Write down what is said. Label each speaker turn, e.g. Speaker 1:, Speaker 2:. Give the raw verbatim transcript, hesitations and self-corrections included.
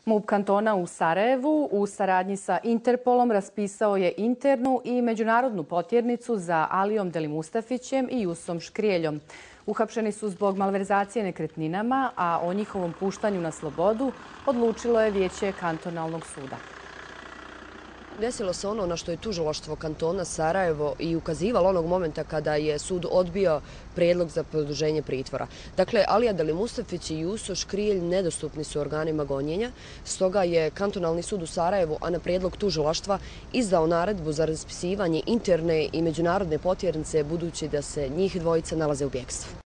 Speaker 1: MUP kantona u Sarajevu u saradnji sa Interpolom raspisao je internu i međunarodnu potjernicu za Alijom Delimustafićem i Jusom Škrijeljom. Uhapšeni su zbog malverzacije nekretninama, a o njihovom puštanju na slobodu odlučilo je Vijeće kantonalnog suda.
Speaker 2: Desilo se ono na što je tužilaštvo kantona Sarajevo i ukazivalo onog momenta kada je sud odbio prijedlog za produženje pritvora. Dakle, Alija Delimustafić i Juso Škrijelj nedostupni su organima gonjenja, stoga je kantonalni sud u Sarajevu, a na prijedlog tužilaštva, izdao naredbu za raspisivanje interne i međunarodne potjernice budući da se njih dvojica nalaze u bjekstvu.